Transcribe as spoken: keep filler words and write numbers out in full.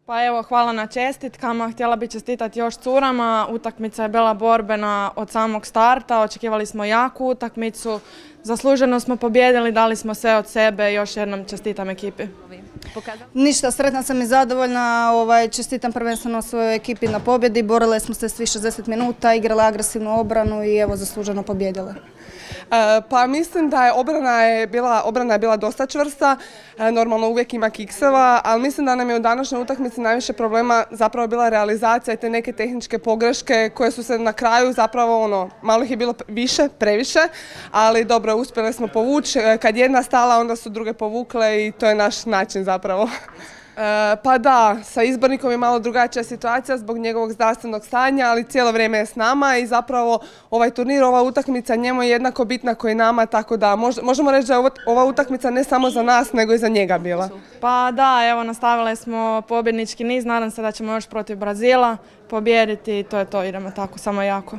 Pa evo, hvala na čestitkama. Htjela bih čestitati još curama. Utakmica je bila borbena od samog starta. Očekivali smo jaku utakmicu. Zasluženo smo pobijedili, dali smo sve od sebe. Još jednom čestitam ekipi. Ništa, sretna sam i zadovoljna. Ovaj, čestitam prvenstveno svojoj ekipi na pobjedi. Borile smo se svih šezdeset minuta, igrale agresivnu obranu i evo zasluženo pobijedile. Pa mislim da je obrana je bila, obrana je bila dosta čvrsta, normalno uvijek ima kikseva, ali mislim da nam je u današnjoj utakmici najviše problema zapravo bila realizacija i te neke tehničke pogreške koje su se na kraju zapravo ono, malo ih je bilo više, previše, ali dobro, uspjeli smo povući, kad jedna stala onda su druge povukle i to je naš način zapravo. E, pa da, sa izbornikom je malo drugačija situacija zbog njegovog zdravstvenog stanja, ali cijelo vrijeme je s nama i zapravo ovaj turnir, ova utakmica njemu je jednako bitna kao i nama, tako da mož, možemo reći da je ova utakmica ne samo za nas, nego i za njega bila. Pa da, evo, nastavili smo pobjednički niz, nadam se da ćemo još protiv Brazila pobijediti i to je to, idemo tako samo jako.